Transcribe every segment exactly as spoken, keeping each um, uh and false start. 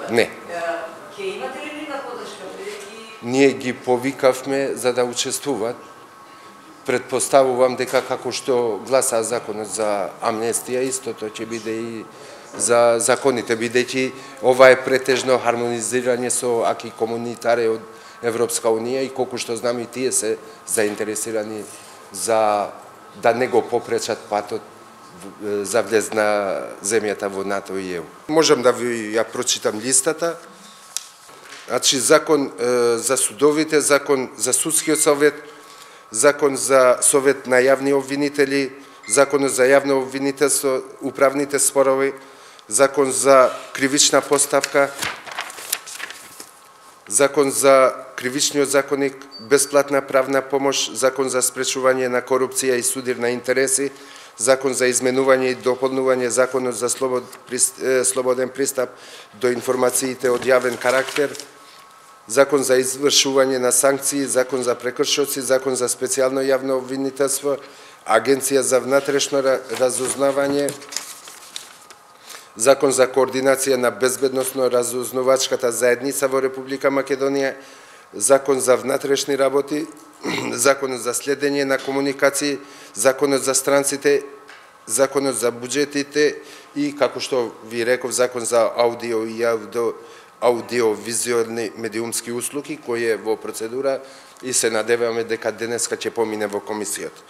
Не. Ќе имате ли нека подршка бидејќи Ние ги повикавме за да учествуваат. Предпоставувам дека како што гласа законот за амнестија, истото ќе биде и за законите, бидејќи ова е претежно хармонизирање со аки комунитаре од Европска унија и колку што знам и тие се заинтересирани за да не го попречат патот за влез на земјата во НАТО и Е У. Можам да ви ја прочитам листата. Значи, закон е, за судовите, закон за судскиот совет, закон за совет на јавни обвинители, закон за јавно обвинителство, управните спорови, закон за кривична поставка, закон за кривичниот законник, бесплатна правна помош, закон за спречување на корупција и судир на интереси, закон за изменување и дополнување законот за слобод, слободен пристап до информациите од јавен карактер, закон за извршување на санкции, закон за прекршоци, закон за специјално јавно обвинителство, агенција за внатрешно разузнавање, закон за координација на безбедносно разузнавачката заедница во Република Македонија, закон за внатрешни работи, законот за следење на комуникации, законот за странците, законот за буџетите и, како што ви реков, закон за аудио и аудио аудиовизуелни медиумски услуги, кој е во процедура и се надеваме дека денеска ќе помине во комисијата.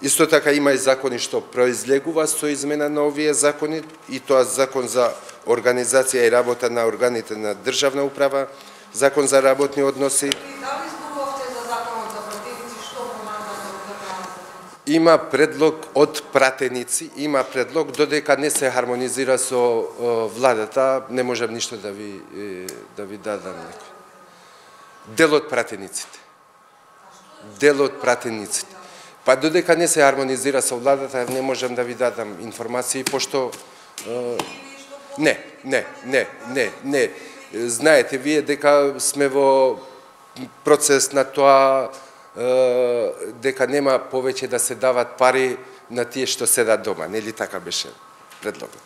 Исто така има и закони што произлегува со измена на овие закони, и тоа закон за организација и работа на органите на државна управа, закон за работни односи. Дали зборувавте за законот за пратеници, што помага за Има предлог од пратеници, има предлог, додека не се хармонизира со владата, не можам ништо да ви да ви дадам некој. Дел од пратениците. Дел од пратениците. Па додека не се хармонизира со владата, не можам да ви дадам информации, пошто не, не, не, не, не. Знаете вие дека сме во процес на тоа дека нема повеќе да се дават пари на тие што седат дома, нели така беше предлогот?